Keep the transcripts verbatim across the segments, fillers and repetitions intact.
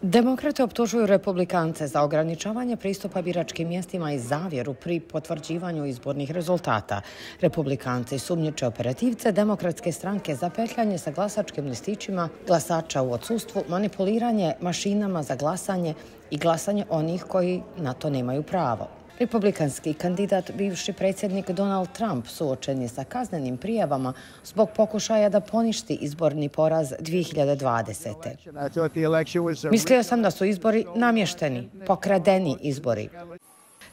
Demokrate optužuju republikance za ograničavanje pristupa biračkim mjestima i zavjeru pri potvrđivanju izbornih rezultata. Republikanci sumnjiče operativce demokratske stranke za petljanje sa glasačkim listićima glasača u odsustvu, manipuliranje mašinama za glasanje i glasanje onih koji na to nemaju pravo. Republikanski kandidat, bivši predsjednik Donald Trump, suočen je sa kaznenim prijavama zbog pokušaja da poništi izborni poraz dvije hiljade dvadesete. Mislio sam da su izbori namješteni, pokradeni izbori.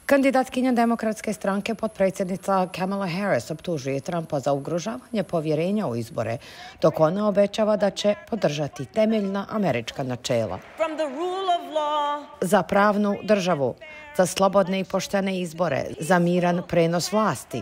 Kandidatkinja demokratske stranke, potpredsjednica Kamala Harris, optužuje Trumpa za ugrožavanje povjerenja u izbore, dok ona obećava da će podržati temeljna američka načela. Za pravnu državu, za slobodne i poštene izbore, za miran prenos vlasti.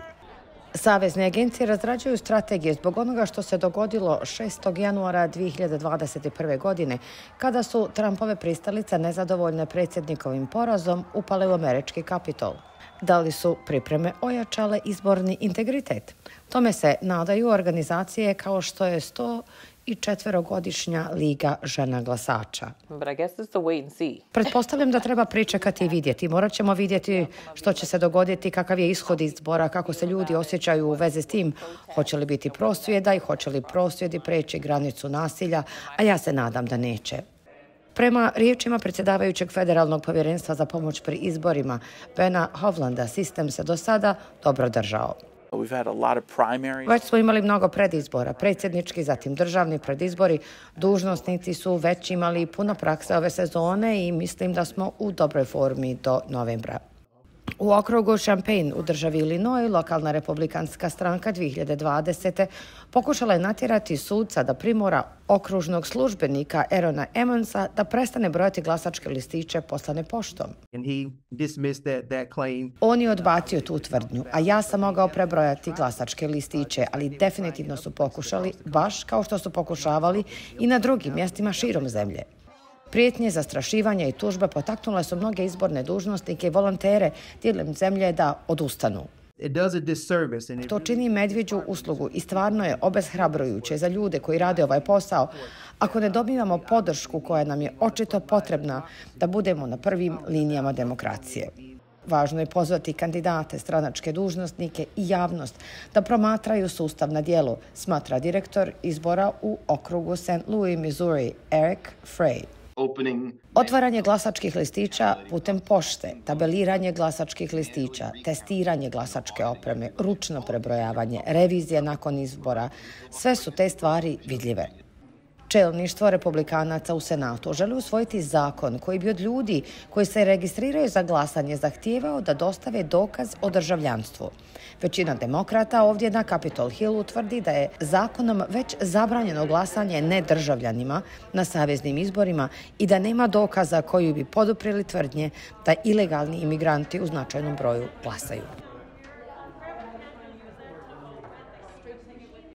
Savezne agencije razrađuju strategije zbog onoga što se dogodilo šestog januara dvije hiljade dvadeset prve. godine, kada su Trumpove pristalice nezadovoljne predsjednikovim porazom upale u američki Kapitol. Da li su pripreme ojačale izborni integritet? Tome se nadaju organizacije kao što je sto i četverogodišnja Liga žena glasača. Pretpostavljam da treba pričekati i vidjeti. Morat ćemo vidjeti što će se dogoditi, kakav je ishod izbora, kako se ljudi osjećaju u vezi s tim, hoće li biti prosvjeda i hoće li prosvjedi preći granicu nasilja, a ja se nadam da neće. Prema riječima predsjedavajućeg Federalnog povjerenstva za pomoć pri izborima, Bena Hovlanda, sistem se do sada dobro držao. Već smo imali mnogo predizbora, predsjednički, zatim državni predizbori. Dužnosnici su već imali puno prakse ove sezone i mislim da smo u dobroj formi do novembra. U okrugu Champaign u državi Illinois, lokalna republikanska stranka dvije hiljade dvadesete. pokušala je natjerati sudca da primora okružnog službenika Aarona Emmonsa da prestane brojati glasačke listiće poslane poštom. On je odbacio tu tvrdnju, a ja sam mogao prebrojati glasačke listiće, ali definitivno su pokušali, baš kao što su pokušavali i na drugim mjestima širom zemlje. Prijetnje, zastrašivanja i tužbe potaknule su mnoge izborne dužnosnike i volontere diljem zemlje da odustanu. To čini medvjeđu uslugu i stvarno je obeshrabrujuće za ljude koji rade ovaj posao ako ne dobivamo podršku koja nam je očito potrebna da budemo na prvim linijama demokracije. Važno je pozvati kandidate, stranačke dužnosnike i javnost da promatraju sustav na djelu, smatra direktor izbora u okrugu Saint Louis, Missouri, Eric Frey. Otvaranje glasačkih listića putem pošte, tabeliranje glasačkih listića, testiranje glasačke opreme, ručno prebrojavanje, revizija nakon izbora, sve su te stvari vidljive. Čelništvo republikanaca u Senatu želi usvojiti zakon koji bi od ljudi koji se registriraju za glasanje zahtijevao da dostave dokaz o državljanstvu. Većina demokrata ovdje na Capitol Hillu tvrdi da je zakonom već zabranjeno glasanje nedržavljanima na saveznim izborima i da nema dokaza koji bi poduprili tvrdnje da ilegalni imigranti u značajnom broju glasaju.